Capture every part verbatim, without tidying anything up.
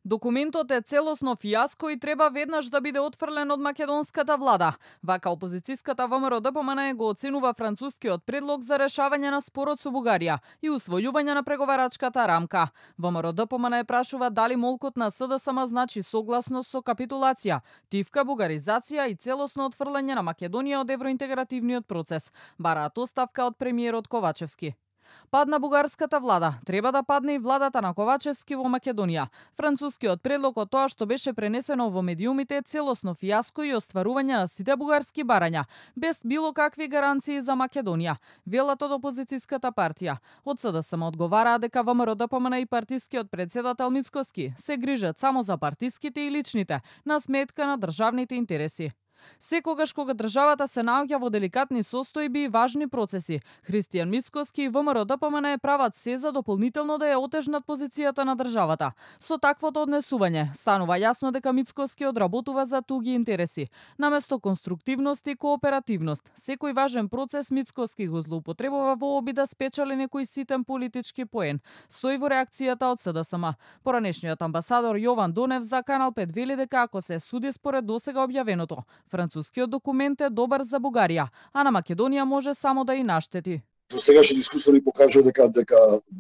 Документот е целосно фијаско и треба веднаш да биде отфрлен од македонската влада. Вака опозицијската ВМРО-ДПМН го оценува францускиот предлог за решавање на спорот со Бугарија и усвојување на преговарачката рамка. ВМРО-ДПМН прашува дали молкот на СДСМ значи согласност со капитулација, тивка, бугаризација и целосно отфрлање на Македонија од евроинтегративниот процес. Бараат оставка од премиерот Ковачевски. Падна бугарската влада, треба да падне и владата на Ковачевски во Македонија. Францускиот предлог од тоа што беше пренесено во медиумите е целосно фијаско и остварување на сите бугарски барања, без било какви гаранции за Македонија, велат од опозицијската партија. Од СДСМ одговараа дека ВМРО-ДПМН и партискиот председател Мицкоски се грижат само за партиските и личните, на сметка на државните интереси. Секогаш кога државата се наоѓа во деликатни состојби и важни процеси, Христијан Мицкоски и ВМРО-ДПМН прават се за дополнително да ја отежнат позицијата на државата. Со таквото однесување станува јасно дека Мицкоски одработува за туги интереси. Наместо конструктивност и кооперативност, секој важен процес Мицкоски го злоупотребува во обид да спечели некој ситен политички поен. Стои во реакцијата од СДСМ. Поранешниот амбасадор Јован Донев за Канал пет вели дека ако се суди според досега објавеното, францускиот документ е добар за Бугарија, а на Македонија може само да и наштети. До сегашните искуства ни покажува дека дека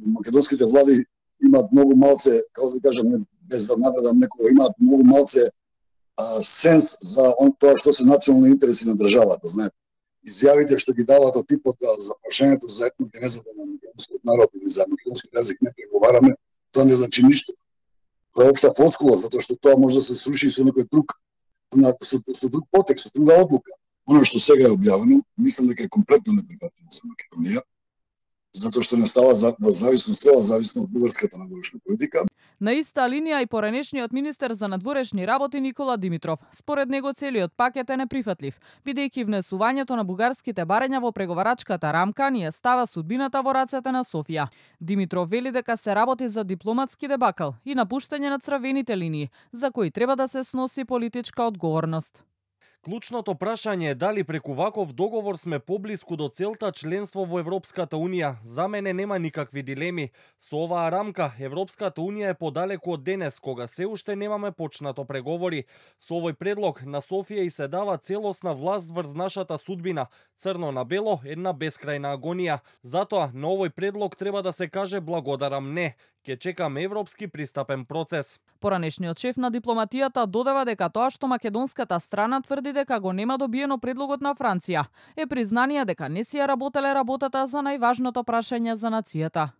македонските влади имаат многу малце, како да кажам, без да наведам некого, имаат многу малце а, сенс за он тоа што се национални интереси на државата, знаете. Изјавите што ги даваат од типот за прашањето за етногенезата на македонскиот народ или за македонски јазик не преговараме, тоа не значи ништо. Тоа е општа флоскула, затоа што тоа може да се сруши со некој друг на со, со друг потекст, со друга одлука. Оно што сега е објавено, мислам дека е комплетно неприфатливо за Македонија, затоа што не става за, во зависност, цела зависност од бугарската надворешна политика. На иста линија и поранешниот министер за надворешни работи Никола Димитров. Според него целиот пакет е неприфатлив, бидејќи внесувањето на бугарските барања во преговарачката рамка ни става судбината во рацете на Софија. Димитров вели дека се работи за дипломатски дебакл и напуштање на црвените линии, за кои треба да се сноси политичка одговорност. Клучното прашање е дали преку ваков договор сме поблиску до целта членство во Европската Унија. За мене нема никакви дилеми. Со оваа рамка Европската Унија е подалеку од денес, кога се уште немаме почнато преговори. Со овој предлог на Софија и се дава целосна власт врз нашата судбина. Црно на бело, една бескрајна агонија. Затоа на овој предлог треба да се каже благодарам не. Ке чекам европски пристапен процес. Поранешниот шеф на дипломатијата додава дека тоа што македонската страна тврди дека го нема добиено предлогот на Франција е признание дека не си ја работеле работата за најважното прашање за нацијата.